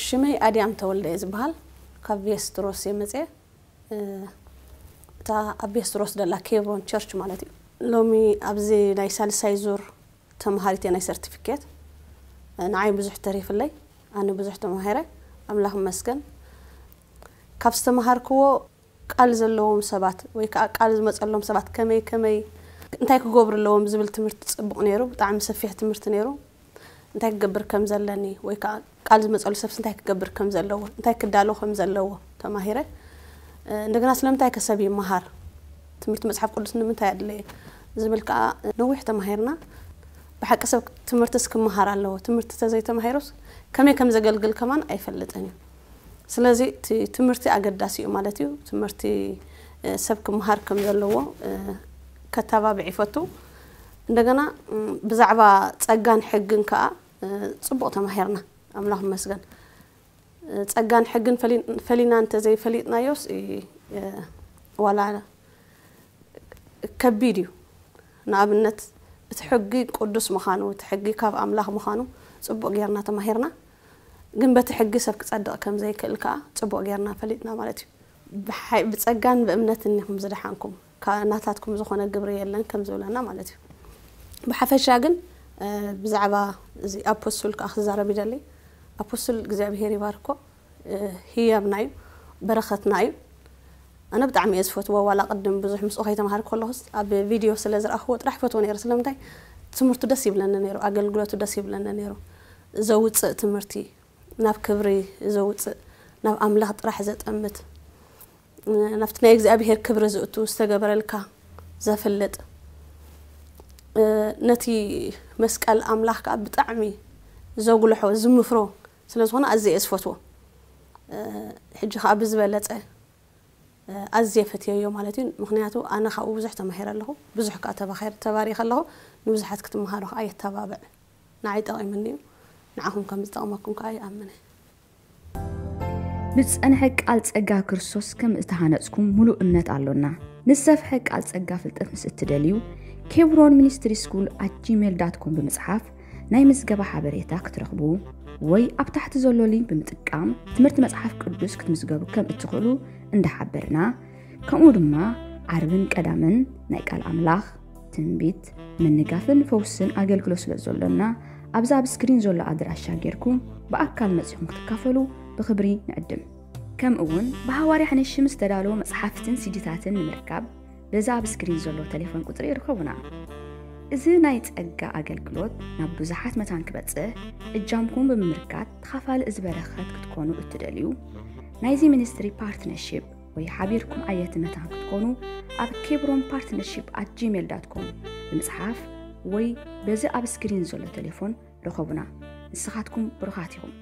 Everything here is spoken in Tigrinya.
ሽመይ ኣድያም ተወልደ እየ ዝበሃል። ካብ ቬስትሮስ እየ መፅየ። እታ ኣብ ቬስትሮስ ደላ ኬብሮን ቸርች ማለት እዩ። ሎሚ ኣብዚ ናይ ሳልሳይ ዙር ተምሃሪት እየ ናይ ሰርቲፊኬት። ንዓይ ብዙሕ ተሪፍለይ፣ ኣነ ብዙሕ ተማሂረ። ኣምላኽ ይመስገን። ካብ ዝተምሃርክዎ ቃል ዘለዎም ሰባት ወይ ከዓ ቃል ዝመፀሎም ሰባት ከመይ ከመይ እንታይ ክገብሩ ኣለዎም ዝብል ትምህርቲ ፅቡቕ ነይሩ። ብጣዕሚ ሰፊሕ ትምህርቲ ነይሩ። እንታይ ክገብር ከም ዘለኒ ወይ ከዓ ቃል ዝመፀሉ ሰብስ እንታይ ክገብር ከም ዘለዎ፣ እንታይ ክዳሎ ከም ዘለዎ ተማሂረ። እንደገና ስለምንታይ ከ ሰብ ይመሃር፣ ትምህርቲ መፅሓፍ ቅዱስ ንምንታይ ኣድለየ ዝብል ከዓ ነዊሕ ተማሂርና። ብሓቂ ሰብ ትምህርትስ ክመሃር ኣለዎ። ትምህርቲ ተዘይተማሂሩስ ከመይ ከም ዘገልግል ከማን ኣይፈልጥን እዩ። ስለዚ እቲ ትምህርቲ ኣገዳሲ እዩ ማለት እዩ። ትምህርቲ ሰብ ክመሃር ከም ዘለዎ ከተባብዕ ይፈቱ። እንደገና ብዛዕባ ፀጋን ሕግን ከዓ ፅቡቕ ተማሂርና፣ ኣምላኽ ይመስገን። ፀጋን ሕግን ፈሊና እንተዘይፈሊጥናዮስ ዋላ ከቢድ እዩ። ንኣብነት እቲ ሕጊ ቅዱስ ምዃኑ፣ እቲ ሕጊ ካብ ኣምላኽ ምዃኑ ፅቡቕ ጌርና ተማሂርና። ግን በቲ ሕጊ ሰብ ክፀድቕ ከም ዘይክእል ከዓ ፅቡቕ ጌርና ፈሊጥና ማለት እዩ። ብፀጋን ብእምነትን ኢኹም ዝደሓንኩም፣ ናታትኩም ዝኾነ ግብሪ የለን ከም ዝብለና ማለት እዩ። ብሓፈሻ ግን ብዛዕባ እዚ ኣፖስቱል ከዓ ክዛረብ ይደሊ። ኣፖስቱል እግዚኣብሄር ይባርኮ፣ ህያብና እዩ፣ በረኸትና እዩ። ኣነ ብጣዕሚ እየ ዝፈትዎ። ዋላ ቅድም ብዙሕ ምስኡ ከይተምሃር ከለኹስ ኣብ ቪድዮ ስለ ዝረኣኽዎ ጥራሕ ፈትዎ ነይረ። ስለምንታይ ትምህርቱ ደስ ይብለኒ ነይሩ፣ ኣገልግሎቱ ደስ ይብለኒ ነይሩ። ዘውፅእ ትምህርቲ፣ ናብ ክብሪ ዘውፅእ፣ ናብ ኣምላኽ ጥራሕ ዘጠምት፣ ናብቲ ናይ እግዚኣብሄር ክብሪ ዝእቱ፣ ዝተገበረልካ ዘፍልጥ፣ ነቲ መስቀል ኣምላኽ ከዓ ብጣዕሚ ዘጉልሖ ዝምፍሮ ስለ ዝኾነ ኣዝየ እየ ዝፈትዎ። ሕጂ ከዓ ብዝበለፀ ኣዝየ ፈትየዮ ማለት እዩ። ምክንያቱ ኣነ ካብኡ ብዙሕ ተማሂረ ኣለኹ፣ ብዙሕ ከዓ ተባኺረ፣ ተባሪኸ ኣለኹ። ንብዙሓት ክትመሃሩ ከዓ የተባብዕ። ንዓይ ጠቒሙኒ እዩ፣ ንዓኹም ከም ዝጠቕመኩም ከዓ ይኣምን እየ። ብዝጸንሐ ቃል ጸጋ ክርስቶስ ከም እተሃነጽኩም ምሉእ እምነት ኣሎና። ንዝሰፍሐ ቃል ጸጋ ፍልጠት ምስ እትደልዩ፣ ኬብሮን ሚኒስትሪ ስኩል ኣት ጂሜል ዳት ኮም ብምጽሓፍ ናይ ምዝገባ ሓበሬታ ክትረኽቡ ወይ ኣብ ታሕቲ ዘሎ ሊንክ ብምጥቃም ትምህርቲ መጽሓፍ ቅዱስ ክትምዝገቡ ከም እትኽእሉ እንዳሓበርና፣ ከምኡ ድማ ዓርብን ቀዳምን ናይ ቃል ኣምላኽ፣ ትንቢት፣ ምንጋፍን ፈውስን ኣገልግሎት ስለ ዘሎና፣ ኣብዚ ኣብ ስክሪን ዘሎ ኣድራሻ ጌርኩም ብኣካል መጺኹም ክትካፈሉ ብኽብሪ ንዕድም። ከምኡ እውን ብሃዋርያ ሕንሽም ዝተዳለወ መጽሓፍትን ሲዲታትን ንምርካብ በዚ ኣብ ስክሪን ዘሎ ቴሌፎን ቁጽሪ ርኸቡና። እዚ ናይ ጸጋ ኣገልግሎት ናብ ብዙሓት መታን ክበጽሕ እጃምኩም ብምምርካት ተኻፋሊ እዚ በረኸት ክትኮኑ እትደልዩ፣ ናይዚ ሚኒስትሪ ፓርትነርሺፕ ወይ ሓቢርኩም ዓየቲ መታን ክትኮኑ ኣብ ኬብሮን ፓርትነርሺፕ ኣት ጂሜል ዳት ኮም ብምጽሓፍ ወይ በዚ ኣብ ስክሪን ዘሎ ቴሌፎን ርኸቡና። ንስኻትኩም ብሩኻት ኢኹም።